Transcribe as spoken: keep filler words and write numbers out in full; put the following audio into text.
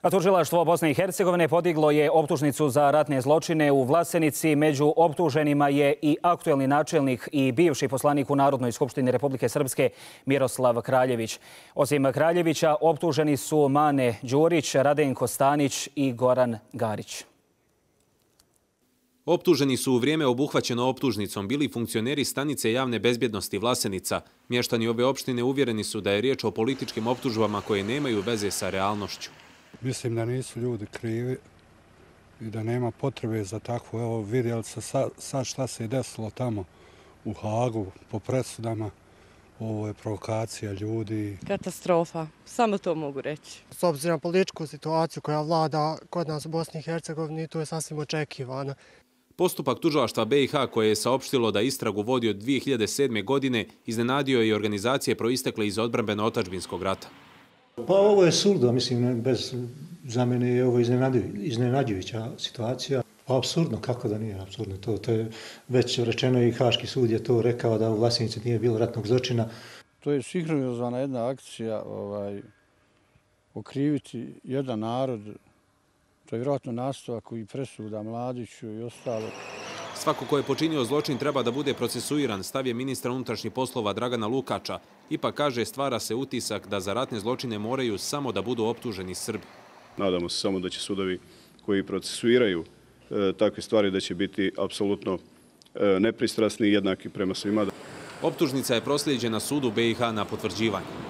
A tužilaštvo Bosne i Hercegovine podiglo je optužnicu za ratne zločine u Vlasenici. Među optuženima je i aktuelni načelnik i bivši poslanik u Narodnoj skupštini Republike Srpske Miroslav Kraljević. Osim Kraljevića, optuženi su Mane Đurić, Radenko Stanić i Goran Garić. Optuženi su u vrijeme obuhvaćeno optužnicom bili funkcioneri stanice javne bezbjednosti Vlasenica. Mještani ove opštine uvjereni su da je riječ o političkim optužbama koje nemaju veze sa realnošću. Mislim da nisu ljudi krivi i da nema potrebe za takvo. Evo, vidjeli se sad, sad šta se je desilo tamo u Hagu po presudama. Ovo je provokacija ljudi. Katastrofa, samo to mogu reći. S obzirom na političku situaciju koja vlada kod nas u Bosni i Hercegovini, to je sasvim očekivano. Postupak tužilaštva B i H koje je saopštilo da istragu vodi od dvije hiljade sedme. godine iznenadio je i organizacije proistekle iz odbrambeno-otadžbinskog rata. Pa ovo je suludo, mislim, bez, za mene je ovo iznenađujuća situacija. Pa apsurdno, kako da nije apsurdno. To, to je već rečeno i Haški sud je to rekao da u Vlasenici nije bilo ratnog zločina. To je sinhronizovana jedna akcija ovaj, okriviti jedan narod. To je vjerojatno nastavak i presuda Mladiću i ostalo. Svako ko je počinio zločin treba da bude procesuiran, stav je ministra unutrašnjih poslova Dragana Lukača. Ipak kaže, stvara se utisak da za ratne zločine moraju samo da budu optuženi Srbi. Nadamo se samo da će sudovi koji procesuiraju e, takve stvari da će biti apsolutno e, nepristrasni i jednaki prema svima. Optužnica je proslijeđena sudu B i H na potvrđivanje.